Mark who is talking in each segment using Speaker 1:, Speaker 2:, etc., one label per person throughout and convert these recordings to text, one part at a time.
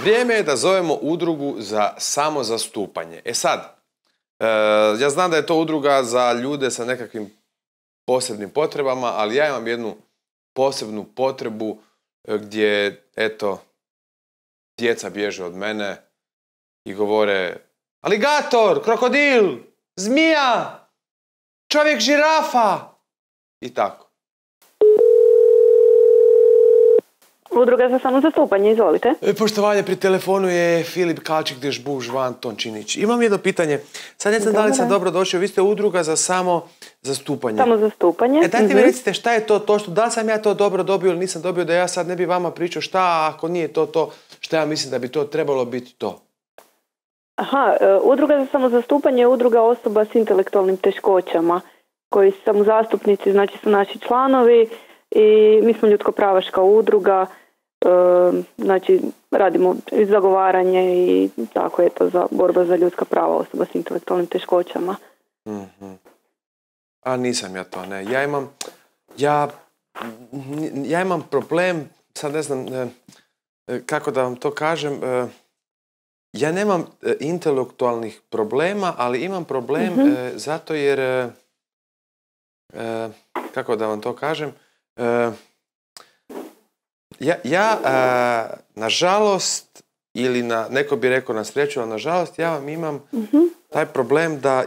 Speaker 1: Vrijeme je da zovemo udrugu za samozastupanje. E sad, ja znam da je to udruga za ljude sa nekakvim posebnim potrebama, ali ja imam jednu posebnu potrebu gdje, eto, djeca bježe od mene i govore aligator, krokodil, zmija, čovjek žirafa i tako.
Speaker 2: Udruga za samozastupanje, izvolite.
Speaker 1: Poštovanje, pri telefonu je Filip Kalčik-Dežbuh, Žvan Tončinić. Imam jedno pitanje. Sad ne znam da li sam dobro došao. Vi ste udruga za samozastupanje.
Speaker 2: Samozastupanje.
Speaker 1: Dajte mi recite šta je to točno. Da li sam ja to dobro dobio ili nisam dobio, da ja sad ne bi vama pričao šta, ako nije to, šta ja mislim da bi to trebalo biti to.
Speaker 2: Aha, udruga za samozastupanje je udruga osoba s intelektualnim teškoćama, koji su samozastupnici, znači su naši članovi i mi smo ljudsko-pravaška udruga, znači radimo zagovaranje i tako je to za borba za ljudska prava osoba s intelektualnim teškoćama.
Speaker 1: A nisam ja to, ne. Ja imam problem, sad ne znam kako da vam to kažem, ja nemam intelektualnih problema, ali imam problem zato jer, kako da vam to kažem, ja nažalost, ili neko bi rekao na sreću, ali nažalost ja vam imam taj problem da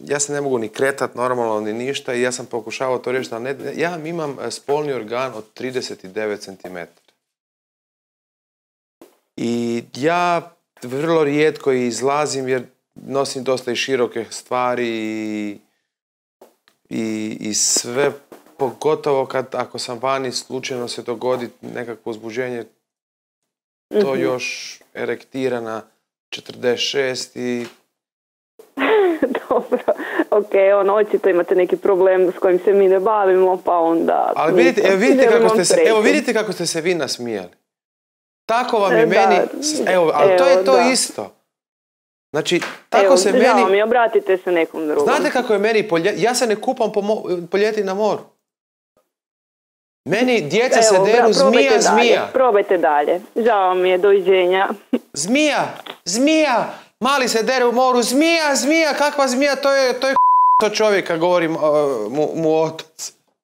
Speaker 1: ja se ne mogu ni kretat normalno ni ništa i ja sam pokušavao to riješiti, ali ja vam imam spolni organ od 39 cm. I ja vrlo rijetko izlazim jer nosim dosta i široke stvari i sve, pogotovo ako sam vani, slučajno se dogodi nekakvo uzbuđenje, to još erektira na 46 i...
Speaker 2: Dobro, ok, očito imate neki problem s kojim se mi ne bavimo, pa onda...
Speaker 1: Ali vidite kako ste se vi nasmijali. Tako vam je meni... ali to je to isto. Znači, tako se meni...
Speaker 2: Žao mi, obratite se nekom drugom.
Speaker 1: Znate kako je meni ja se ne kupam po ljeti na moru. Meni djeca se deru zmija.
Speaker 2: Probajte dalje. Žao mi je, doviđenja.
Speaker 1: Zmija! Mali se dere u moru. Zmija! Kakva zmija? To je čovjeka, govori mu otac.